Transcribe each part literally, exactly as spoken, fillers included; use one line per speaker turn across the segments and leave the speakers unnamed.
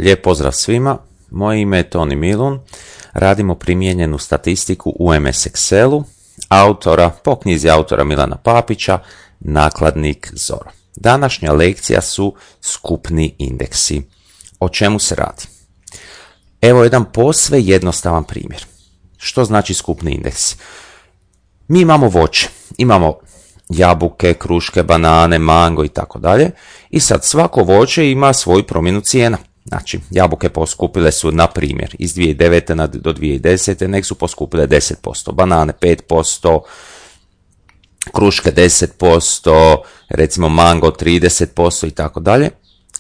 Lijep pozdrav svima, moje ime je Toni Milun, radimo primijenjenu statistiku u em es Excelu, autora, po knjizi autora Milana Papića, nakladnik Zoro. Današnja lekcija su skupni indeksi. O čemu se radi? Evo jedan posve jednostavan primjer. Što znači skupni indeksi? Mi imamo voće, imamo jabuke, kruške, banane, mango i tako dalje. I sad svako voće ima svoju promjenu cijena. Znači, jabuke poskupile su, na primjer, iz dvije tisuće devete do dvije tisuće desete, nek su poskupile deset posto, banane pet posto, kruške deset posto, recimo mango trideset posto i tako dalje.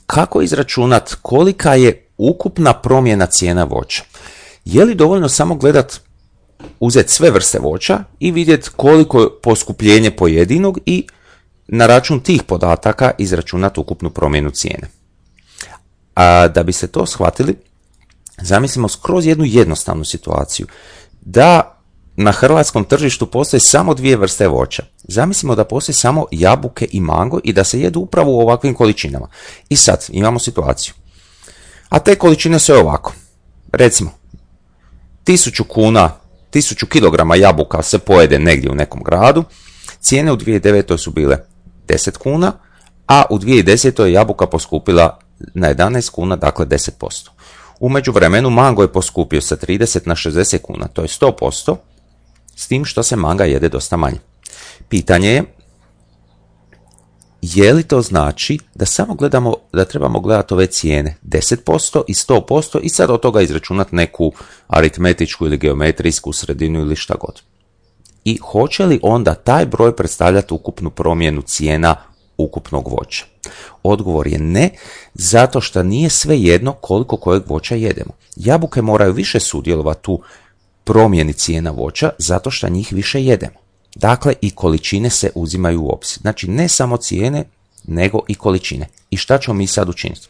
Kako izračunati kolika je ukupna promjena cijena voća? Je li dovoljno samo gledat, uzeti sve vrste voća i vidjeti koliko je poskupljenje pojedinog i na račun tih podataka izračunati ukupnu promjenu cijene? A da bi se to shvatili, zamislimo skroz jednu jednostavnu situaciju. Da na hrvatskom tržištu postoje samo dvije vrste voća. Zamislimo da postoje samo jabuke i mango i da se jedu upravo u ovakvim količinama. I sad imamo situaciju. A te količine su ovako. Recimo, tisuću kuna, tisuću kilograma jabuka se pojede negdje u nekom gradu. Cijene u dvije tisuće devetoj su bile deset kuna, a u dvije tisuće desetoj je jabuka poskupila na jedanaest kuna, dakle deset posto. U međuvremenu mango je poskupio sa trideset na šezdeset kuna, to je sto posto, s tim što se manga jede dosta manje. Pitanje je, je li to znači da samo gledamo, da trebamo gledati ove cijene deset posto i sto posto i sad od toga izračunati neku aritmetičku ili geometrijsku sredinu ili šta god. I hoće li onda taj broj predstavljati ukupnu promjenu cijena ukupnog voća? Odgovor je ne, zato što nije sve jedno koliko kojeg voća jedemo. Jabuke moraju više sudjelovati u promjeni cijena voća zato što njih više jedemo. Dakle, i količine se uzimaju u obzir. Znači, ne samo cijene, nego i količine. I šta ćemo mi sad učiniti?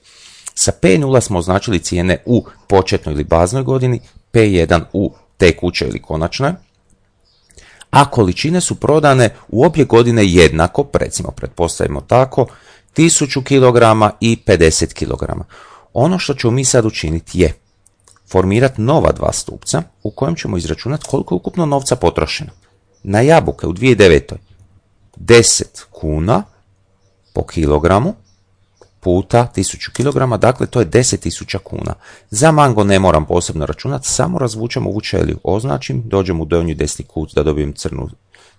Sa P nula smo označili cijene u početnoj ili baznoj godini, P jedan u tekućoj ili konačnoj, a količine su prodane u obje godine jednako, recimo pretpostavimo tako, tisuću kilograma i pedeset kilograma. Ono što ćemo mi sad učiniti je formirati nova dva stupca u kojem ćemo izračunati koliko je ukupno novca potrošeno. Na jabuke u dvije tisuće devetoj deset kuna po kilogramu puta tisuću kilograma, dakle to je deset tisuća kuna. Za mango ne moram posebno računati, samo razvučem ovu ćeliju, označim, dođem u donji desni kut da dobijem crnu,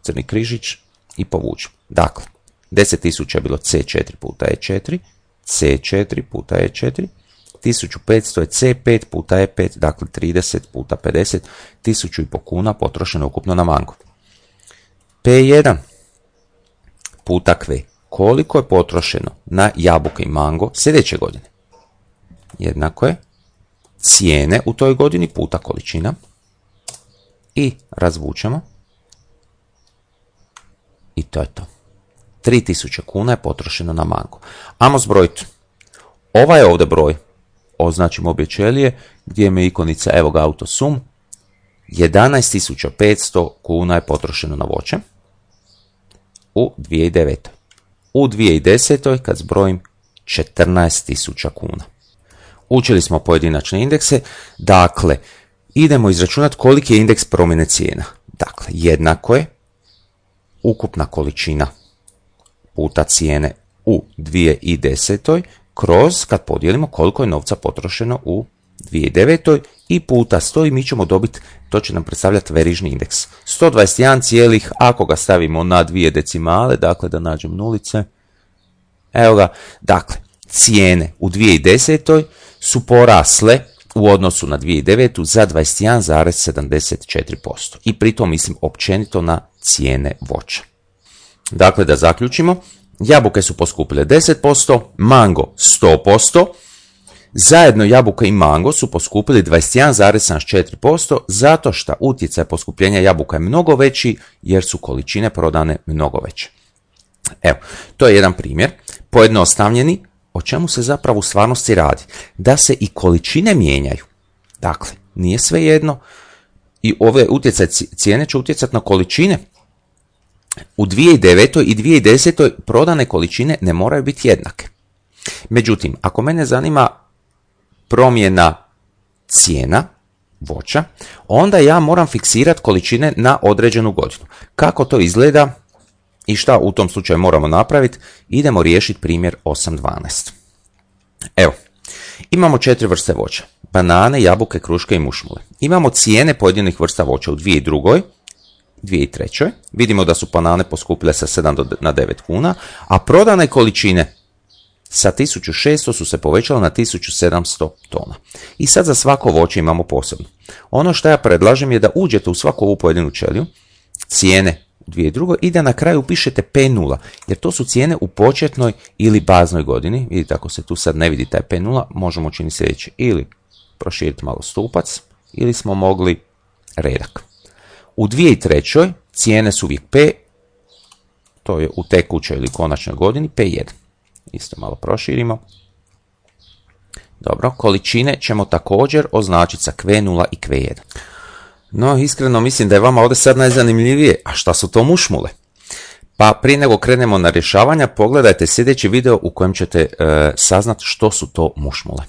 crni križić i povučem. Dakle, deset tisuća je bilo C četiri puta E četiri, C četiri puta E četiri, tisuću petsto je C pet puta E pet, dakle trideset puta pedeset, tisuću i po kuna potrošeno ukupno na mango. P jedan puta Q. Koliko je potrošeno na jabuke i mango sljedeće godine? Jednako je cijene u toj godini puta količina i razvučemo i to je to. tri tisuće kuna je potrošeno na mango. Ajmo zbrojiti. Ovaj je ovdje broj. Označimo obje ćelije gdje je ikonica, evo ga autosum. jedanaest tisuća petsto kuna je potrošeno na voće u dvije tisuće devetoj. U dvije tisuće desetoj kad zbrojim četrnaest tisuća kuna. Učili smo pojedinačne indekse, dakle idemo izračunati koliki je indeks promjene cijena. Dakle, jednako je ukupna količina puta cijene u dvije tisuće desetoj kroz kad podijelimo koliko je novca potrošeno u dvije tisuće devetoj i puta sto i mi ćemo dobiti, to će nam predstavljati verižni indeks. sto dvadeset jedan cijelih, ako ga stavimo na dvije decimale, dakle da nađem nulice, evo ga, dakle, cijene u dvije tisuće desetoj su porasle u odnosu na dvije tisuće devetu za dvadeset jedan zarez sedamdeset četiri posto. I pritom mislim općenito na cijene voća. Dakle, da zaključimo, jabuke su poskupile deset posto, mango sto posto, zajedno jabuke i mango su poskupili dvadeset jedan zarez sedamdeset četiri posto zato što utjecaj poskupljenja jabuka je mnogo veći jer su količine prodane mnogo veće. Evo, to je jedan primjer, pojednostavljeni, o čemu se zapravo u stvarnosti radi. Da se i količine mijenjaju. Dakle, nije sve jedno i ove utjecaj cijene će utjecati na količine. U dvije tisuće devetoj i dvije tisuće desetoj prodane količine ne moraju biti jednake. Međutim, ako mene zanima promjena cijena voća, onda ja moram fiksirati količine na određenu godinu. Kako to izgleda i šta u tom slučaju moramo napraviti? Idemo riješiti primjer osam dvanaest. Evo, imamo četiri vrste voća. Banane, jabuke, kruške i mušmule. Imamo cijene pojedinih vrsta voća u dvije tisuće druge. dvije tisuće treće. Vidimo da su banane poskupile sa sedam na devet kuna, a prodane količine sa tisuću šesto su se povećale na tisuću sedamsto tona. I sad za svako voće imamo posebno. Ono što ja predlažem je da uđete u svaku ovu pojedinu ćeliju, cijene u dvije tisuće druge i da na kraju upišete P nula, jer to su cijene u početnoj ili baznoj godini. Vidite, ako se tu sad ne vidi taj P nula, možemo činiti sljedeće, ili proširiti malo stupac, ili smo mogli redak. U dvije tisuće treće. cijene su uvijek P, to je u tekućoj ili konačnoj godini, P jedan. Isto malo proširimo. Dobro, količine ćemo također označiti sa Q nula i Q jedan. No, iskreno mislim da je vama ovdje sad najzanimljivije, a šta su to mušmule? Pa prije nego krenemo na rješavanja, pogledajte sljedeći video u kojem ćete e, saznati što su to mušmule.